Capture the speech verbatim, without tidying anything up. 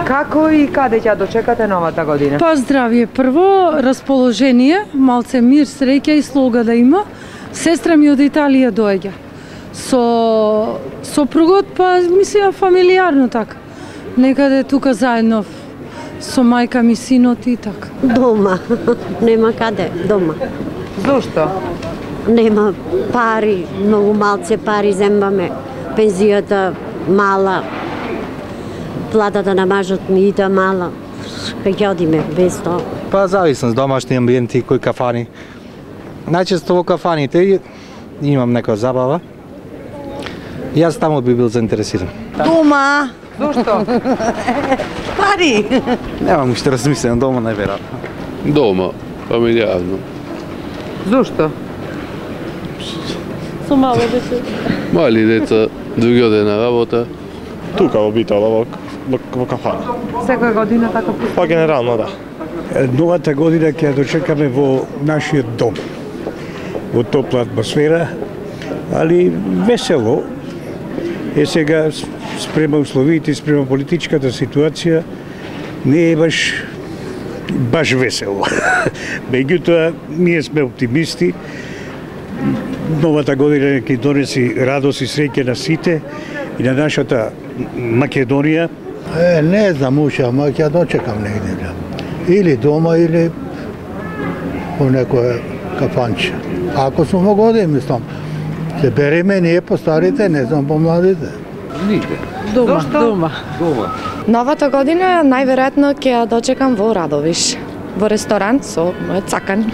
Како и каде ќе дочекате новата година? Па здравје прво, расположение, малце мир, среќа и слога да има. Сестра ми од Италија доаѓа. Со сопругот, па мислам фамилиарно така. Некаде тука заедно со мајка ми, синот и така. Дома, нема каде, дома. Зошто? Нема пари, многу малце пари зембаме, пензијата мала, платата на мажот ми иде мала, кај ќе одиме без тоа? Па зависам, домашни амбиенти, кои кафани. Најчесто во кафаните имам некоја забава. Јас таму би бил заинтересиран. Дома. Зошто? Пари. Немам уште размислено, дома најверојатно. Дома, фамилијарно. Зошто? Со мало дете. Мали деца, други оде на работа. Тука во Битола, во, во, во кафана. Секоја година така? Па генерално, да. Новата година ќе ја дочекаме во нашиот дом. Во топла атмосфера, али весело. Е сега спрема условите, спрема политичката ситуација, не е баш баш весело. Меѓутоа, ние сме оптимисти. Новата година ќе донеси радост и среќа на сите и на нашата Македонија. Е, не знам уште, ама ќе дочекам негде. Или дома, или во некоја кафанче. Ако сум во години, мислам, се береме ние по старите, не знам по младите. Нигде. Дома, дома. Дома. Новата година најверојатно ќе ја дочекам во Радовиш, во ресторант со мојот цакан.